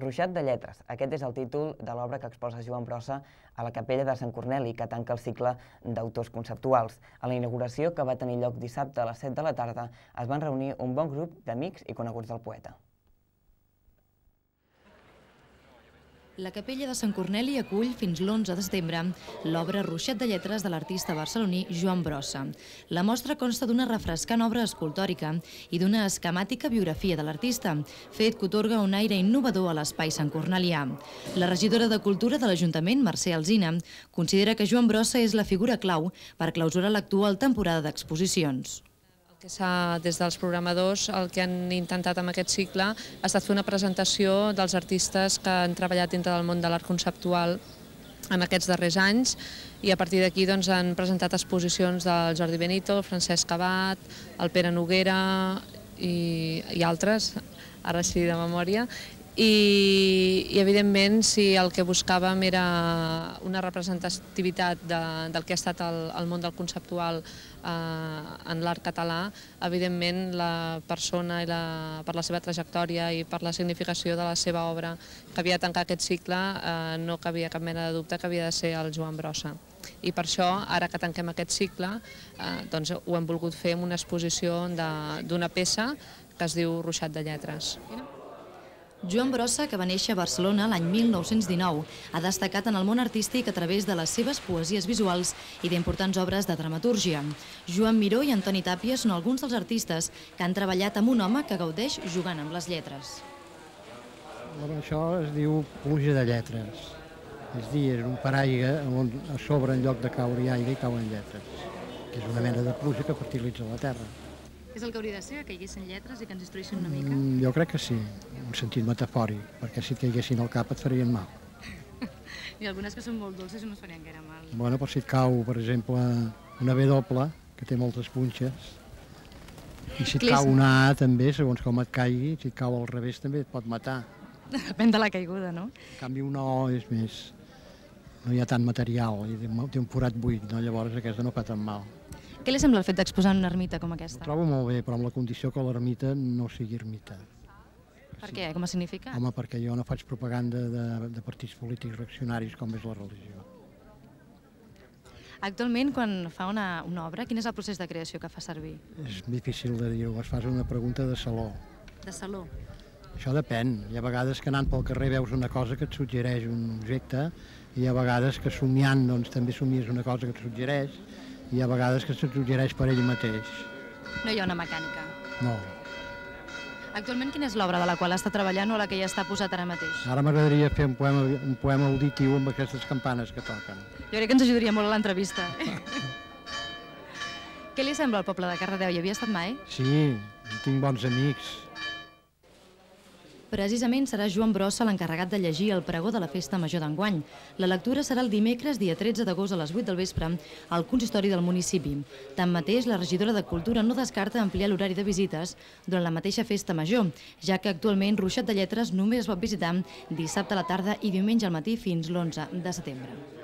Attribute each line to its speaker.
Speaker 1: Ruixat de lletres. Aquest és el títol de l'obra que exposa Joan Brossa a la Capella de Sant Corneli, que tanca el cicle d'autors conceptuals. A la inauguració, que va tenir lloc dissabte a les 7 de la tarda, es van reunir un bon grup d'amics i coneguts del poeta.
Speaker 2: La Capella de Sant Corneli acull fins l'11 de setembre l'obra Ruixat de lletres de l'artista barceloní Joan Brossa. La mostra consta d'una refrescant obra escultòrica i d'una esquemàtica biografia de l'artista, fet que atorga un aire innovador a l'espai santcornelià. La regidora de Cultura de l'Ajuntament, Mercè Alsina, considera que Joan Brossa és la figura clau per clausurar l'actual temporada d'exposicions.
Speaker 3: Des dels programadors el que han intentat amb aquest cicle ha estat fer una presentació dels artistes que han treballat dintre del món de l'art conceptual en aquests darrers anys i a partir d'aquí han presentat exposicions del Jordi Benito, el Francesc Abat, el Pere Noguera i altres, ara sí de memòria. I evidentment, si el que buscàvem era una representativitat del que ha estat el món del conceptual en l'art català, evidentment la persona, per la seva trajectòria i per la significació de la seva obra que havia de tancar aquest cicle, no cabia cap mena de dubte que havia de ser el Joan Brossa. I per això, ara que tanquem aquest cicle, ho hem volgut fer amb una exposició d'una peça que es diu Ruixat de lletres.
Speaker 2: Joan Brossa, que va néixer a Barcelona l'any 1919, ha destacat en el món artístic a través de les seves poesies visuals i d'importants obres de dramatúrgia. Joan Miró i Antoni Tàpia són alguns dels artistes que han treballat amb un home que gaudeix jugant amb les lletres.
Speaker 4: Això es diu pluja de lletres. És a dir, és un paraigua on a sobre, en lloc de caure aire, hi cauen lletres, que és una mena de pluja que fertilitza la terra.
Speaker 2: És el que hauria de ser, que caiguessin lletres i que ens instruïssin una mica?
Speaker 4: Jo crec que sí, en un sentit metafòric, perquè si et caiguessin al cap et farien mal.
Speaker 2: I algunes que són molt dolces no es farien gaire mal.
Speaker 4: Bueno, però si et cau, per exemple, una B doble, que té moltes punxes, i si et cau una A també, segons com et caigui, si et cau al revés també et pot matar.
Speaker 2: Depèn de la caiguda, no?
Speaker 4: En canvi, una O és més... no hi ha tant material, té un forat buit, llavors aquesta no fa tan mal.
Speaker 2: Què li sembla el fet d'exposar en una ermita com aquesta?
Speaker 4: Ho trobo molt bé, però amb la condició que l'ermita no sigui ermita.
Speaker 2: Per què? Com a significat?
Speaker 4: Home, perquè jo no faig propaganda de partits polítics reaccionaris com és la religió.
Speaker 2: Actualment, quan fa una obra, quin és el procés de creació que fa servir?
Speaker 4: És difícil de dir-ho, es fa una pregunta de saló.
Speaker 2: De saló?
Speaker 4: Això depèn. Hi ha vegades que anant pel carrer veus una cosa que et suggereix un objecte i hi ha vegades que somiant també somies una cosa que et suggereix i hi ha vegades que se't suggereix per ell mateix.
Speaker 2: No hi ha una mecànica?
Speaker 4: No.
Speaker 2: Actualment, quina és l'obra de la qual està treballant o la que ja està posat ara mateix?
Speaker 4: Ara m'agradaria fer un poema auditiu amb aquestes campanes que toquen.
Speaker 2: Jo crec que ens ajudaria molt a l'entrevista. Què li sembla al poble de Cardedeu? Hi havia estat mai?
Speaker 4: Sí, tinc bons amics.
Speaker 2: Precisament serà Joan Brossa l'encarregat de llegir el pregó de la Festa Major d'enguany. La lectura serà el dimecres, dia 13 d'agost a les 8 del vespre, al consistori del municipi. Tanmateix, la regidora de Cultura no descarta ampliar l'horari de visites durant la mateixa Festa Major, ja que actualment Ruixat de lletres només es pot visitar dissabte a la tarda i diumenge al matí fins l'11 de setembre.